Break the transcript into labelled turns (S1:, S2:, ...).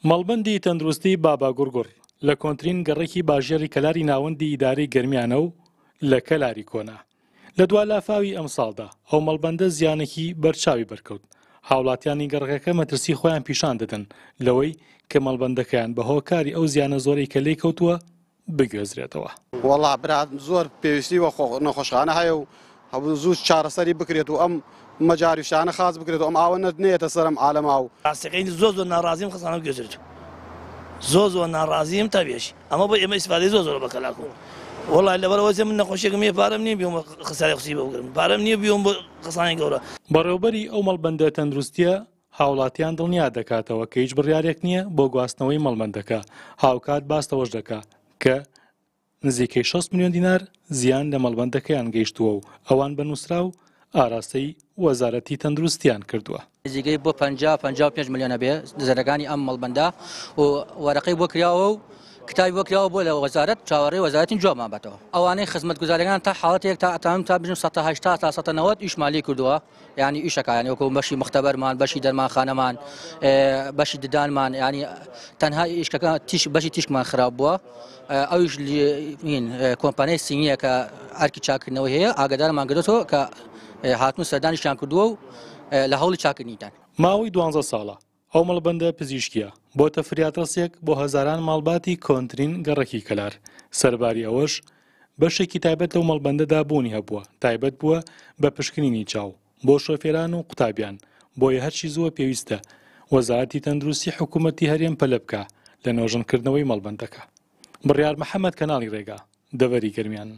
S1: مەڵبەندی تەندروستی باباگوڕگوڕ لە کۆنترین گەڕەکی باژێڕی کەلاری ناوەندی ئیدارەی گەرمیانە و لە کەلاری کۆنە. لە دوا لافاوی ئەمساڵدا ئەو مەڵبەندە زیانێکی بەرچاوی بەرکەوت. هاوڵاتیانی گەڕەکەکە مەترسی خۆیان پیشان دەدەن لەوەی کە مەڵبەندەکەیان بە هۆکاری ئەو زیانە زۆرەی کە لێی کەوتووە بگوێزرێتەوە.
S2: وەڵا برا زۆر پێویستی بە نەخۆشخانە هەیە و هەبوو زوو چارەسەری بکرێت و ئەم مەجاری شتانە خاس بکرێت و ئەم ئاوە نەیەتە سەر ئەم عالەمە و.
S3: ڕاستەکەی زۆر زۆر ناڕازیم خەسانە بگوێزرێت زۆر زۆر ناڕازیم تا بێژی ئەمە بۆ ئێمە ئیسفادەی زۆر زۆر بە کەلاکو وەڵای لەبەرەوە من نەخۆشیێکم نییە پارەم نییە بیۆم خسارەی خوسی بۆ بگرم پارەم نییە بیۆم بۆ خەسانی گەورە.
S1: بەڕێوبەری ئەو مەڵبەندە تەندروستیە هاوڵاتیان دڵنیا دەکاتەوە کە هیچ بڕیارێک نییە بۆ گواستنەوەی مەڵبەندەکە، هاوکات باس لەوەش دەکا کە نزیکەی 60 ملیۆن دینار زیان لە مەڵبەندەکەیان گەیشتووە و ئەوان بە نووسراو ئاراستەی وەزارەتی تەندروستیان کردووە.
S4: نزیکەی بۆ 50 55 ملیۆن ئەبێ زەرەکانی ئەم مەڵبەندە و وەرەقەی بۆ کراوە و کتابی بۆ کراوە بۆ لە وەزارەت چاوەڕێی وەزارەتین جوابمان باتەوە ئەوانەی خزمەتگوزاریەکان تا حاڵەتێک تا ئەتوانم تا بژم 180 تا 190 ئیشمان لێ کردووە یانی ئیشەکە یانی وەکو بەشی مختبەرمان بەشی دەرمانخانەمان بەشی ددانمان ینی تەنها ئیشکەکە تیش بەشی تیشکمان خراپ بووە ئەویش کۆمپانیای سینیە کە ئەرکی چاکردنەوە هەیە ئاگدارمان گرێتەوە کە هاتون سەردانیشیان کردووە و لە هەوڵی چاکردنیدان.
S1: ماوەی دوانزە ساڵە ئەو مەڵبەندە پزیشکییە بۆتە فریادڕەسێک بۆ هەزاران ماڵباتی کۆنترین گەڕەکی کەلار، سەرباری ئەوەش بەشێکی تایبەت لەو مەڵبەندەدا بوونی هەبووە تایبەت بووە بە پشکنینی چاو بۆ شۆفێران و قوتابیان، بۆیە هەرچی زووە پێویستە وەزارەتی تەندروستی حکوومەتی هەرێم پەلە بکا لە نۆژەنکردنەوەی مەڵبەندەکە. بڕیار محەمەد کەناڵی ڕێگا، دەڤەری گەرمیان.